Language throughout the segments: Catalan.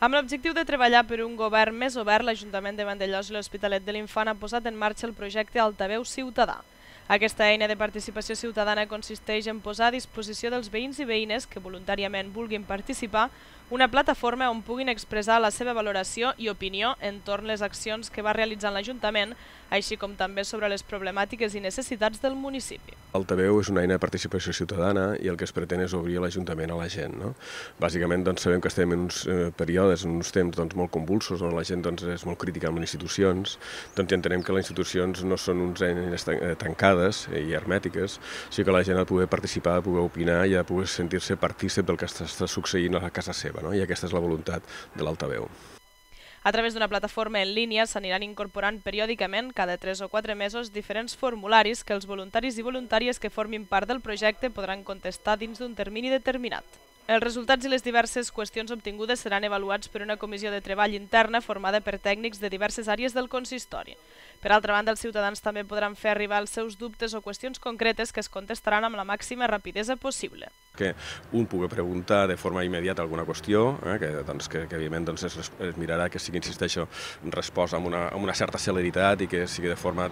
Amb l'objectiu de treballar per un govern més obert, l'Ajuntament de Vandellòs i l'Hospitalet de l'Infant ha posat en marxa el projecte Altaveu Ciutadà. Aquesta eina de participació ciutadana consisteix en posar a disposició dels veïns i veïnes que voluntàriament vulguin participar una plataforma on puguin expressar la seva valoració i opinió entorn les accions que va realitzant l'Ajuntament, així com també sobre les problemàtiques i necessitats del municipi. Altaveu és una eina de participació ciutadana i el que es pretén és obrir l'Ajuntament a la gent. Bàsicament sabem que estem en uns períodes, en uns temps molt convulsos, on la gent és molt crítica amb les institucions, i entenem que les institucions no són unes eines tancades i hermètiques, sinó que la gent ha de poder participar, ha de poder opinar i ha de poder sentir-se partícip del que està succeint a casa seva, i aquesta és la voluntat de l'Altaveu. A través d'una plataforma en línia s'aniran incorporant periòdicament, cada 3 o 4 mesos, diferents formularis que els voluntaris i voluntàries que formin part del projecte podran contestar dins d'un termini determinat. Els resultats i les diverses qüestions obtingudes seran avaluats per una comissió de treball interna formada per tècnics de diverses àrees del consistori. Per altra banda, els ciutadans també podran fer arribar els seus dubtes o qüestions concretes que es contestaran amb la màxima rapidesa possible. Que un pugui preguntar de forma immediata alguna qüestió, que evidentment es mirarà que sigui, insisteixo, resposta amb una certa celeritat i que sigui de forma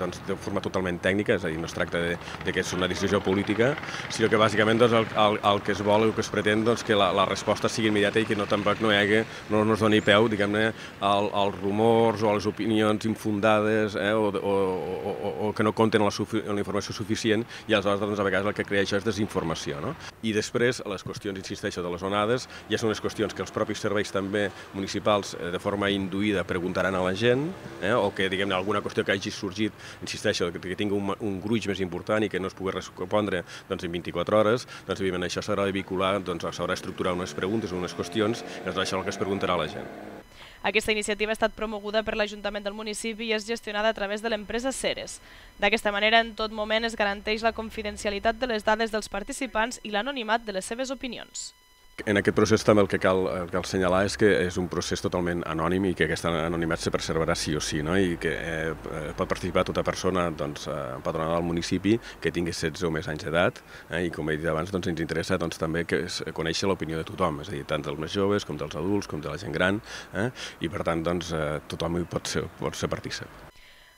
totalment tècnica, és a dir, no es tracta de que és una decisió política, sinó que bàsicament el que es vol, el que es pretén, que la resposta sigui immediata i que tampoc no es doni peu, diguem-ne, als rumors o a les opinions infundades o que no compten la informació suficient, i aleshores a vegades el que crea això és desinformació. I després, les qüestions, insisteixo, de les onades, ja són unes qüestions que els propis serveis també municipals de forma induïda preguntaran a la gent, o que, diguem-ne, alguna qüestió que hagi sorgit, insisteixo, que tingui un gruix més important i que no es pugui respondre en 24 hores, doncs evidentment això s'haurà de vincular, s'haurà d'estructurar unes preguntes o unes qüestions, i això és el que es preguntarà a la gent. Aquesta iniciativa ha estat promoguda per l'Ajuntament del municipi i és gestionada a través de l'empresa Ceres. D'aquesta manera, en tot moment es garanteix la confidencialitat de les dades dels participants i l'anonimat de les seves opinions. En aquest procés també el que cal assenyalar és que és un procés totalment anònim i que aquest anonimat se preservarà sí o sí, i que pot participar tota persona empadronada al municipi que tingui 16 o més anys d'edat, i com he dit abans ens interessa també conèixer l'opinió de tothom, és a dir, tant dels més joves com dels adults com de la gent gran, i per tant tothom hi pot ser partícip.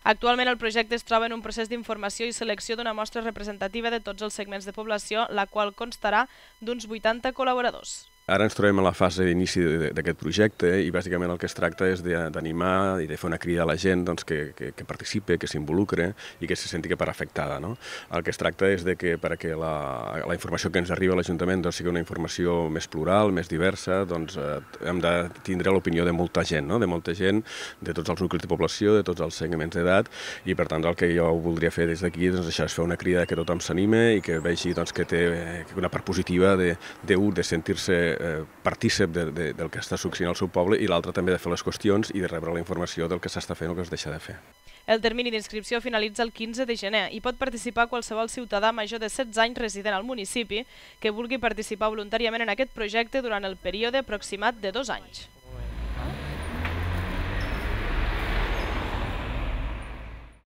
Actualment el projecte es troba en un procés d'informació i selecció d'una mostra representativa de tots els segments de població, la qual constarà d'uns 80 col·laboradors. Ara ens trobem a la fase d'inici d'aquest projecte i bàsicament el que es tracta és d'animar i de fer una crida a la gent que participi, que s'involucre i que se senti que part afectada. El que es tracta és que perquè la informació que ens arriba a l'Ajuntament sigui una informació més plural, més diversa, hem de tindre l'opinió de molta gent, de tots els nuclis de població, de tots els segments d'edat, i per tant el que jo voldria fer des d'aquí és fer una crida que tothom s'anime i que vegi que té una part positiva de sentir-se partícip del que està succeint al seu poble, i l'altre també de fer les qüestions i de rebre la informació del que s'està fent o que es deixa de fer. El termini d'inscripció finalitza el 15 de gener i pot participar qualsevol ciutadà major de 16 anys resident al municipi que vulgui participar voluntàriament en aquest projecte durant el període aproximat de 2 anys.